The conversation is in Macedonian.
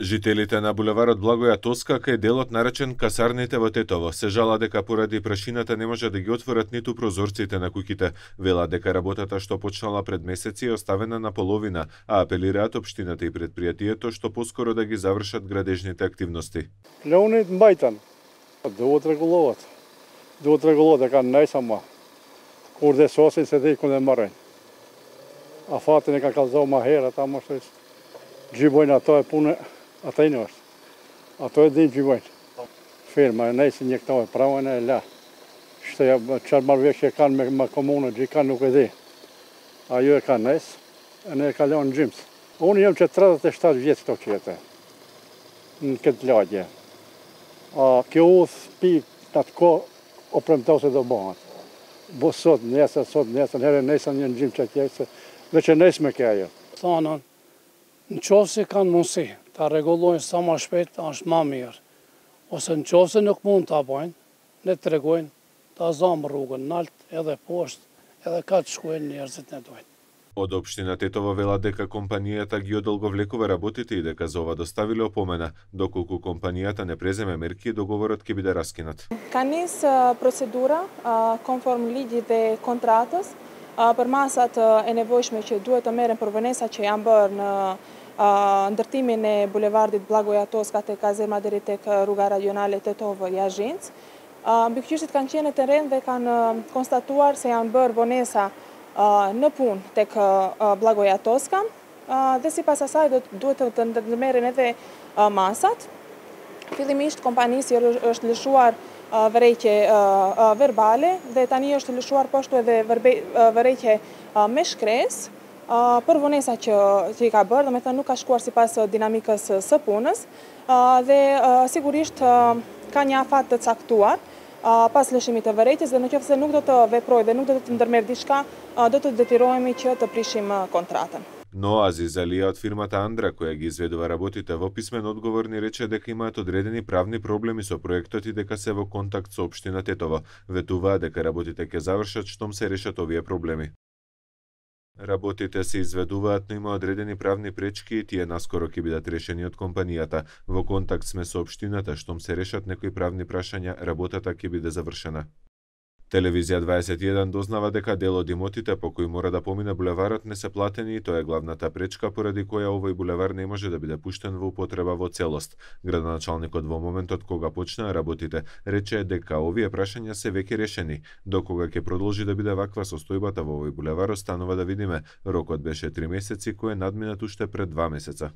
Жителите на булеварот Благоја Тоска, кај делот наречен Касарните во Тетово, се жалат дека поради прашината не може да ги отворат ниту прозорците на куќите. Велат дека работата што почнала пред месеци е оставена на половина, а апелираат општината и предпријатието што поскоро да ги завршат градежните активности. Леонид Мајтан, да отрегулуваат. Да отрегулуваат дека не сама. Курде сосен се дей коне марен. А фати нека казал махера тамо што џибојна тоа е пуне. A to je a to je din život. Firma ne se njekta pravo ne la. Što ja čar mal više kan me komuna di kan nuk e di. A ju e kan nes, ne ka leon gyms. Unë jam që 37 vjeç këto që jetë. Në këtë lagje. A kjo udh pi atë ko o premtau se do bëhat. Bo sot, nesër, herë nesër një në gjim që tjesë, dhe që nesë me kja jo. Thanën, në qovë se kanë mundësi, ta regulojnë sa ma shpejt, është ma mirë. Ose në qovë se nuk mund të bojnë, ne të regojnë, ta zamë rrugën nalt edhe poshtë, edhe ka të shkojnë njerëzit ne dojnë. Од општина Тетово велат дека компанијата ги одолговлекува работите и дека за ова доставиле опомена, доколку компанијата не преземе мерки, договорот ќе биде раскинат. Ka nis procedura conform ligjit dhe kontratës për masat e nevojshme që duhet të merren për vënesa që janë bërë në ndërtimin e bulevardit Blagoja Toska te kazerma deri tek rruga rajonale Tetovo-Jazhinc. Mbikëqyrësit kanë qenë në terren dhe kanë konstatuar se janë bërë vonesa në punë tek Blagoja Toska dhe sipas asaj duhet të ndërmerren edhe masat. Fillimisht kompanisi është lëshuar vërejtje verbale dhe tani është lëshuar po ashtu edhe vërejtje me shkresë për vonesa që i ka bërë, domethënë nuk ka shkuar sipas dinamikës së punës dhe sigurisht ka një afat të caktuar pas lëshimit të vërejtjes dhe nëse nuk do të veprojë dhe nuk do të ndërmerr diçka, do të detyrohemi që të prishim kontratën. Но Азиз Алија од фирмата Андра, која ги изведува работите, во писмен одговор ни рече дека имаат одредени правни проблеми со проектот и дека се во контакт со општина Тетово. Ветуваат дека работите ќе завршат штом се решат овие проблеми. Работите се изведуваат, но има одредени правни пречки и тие наскоро ќе бидат решени од компанијата. Во контакт сме со општината, штом се решат некои правни прашања, работата ќе биде завршена. Телевизија 21 дознава дека дел од имотите по кои мора да помине булеварот не се платени и тоа е главната пречка поради која овој булевар не може да биде пуштен во употреба во целост. Градоначалникот во моментот кога почнаа работите рече дека овие прашања се веќе решени. Докога ќе продолжи да биде ваква состојбата во овој булевар останува да видиме. Рокот беше 3 месеци кој е надминат уште пред 2 месеца.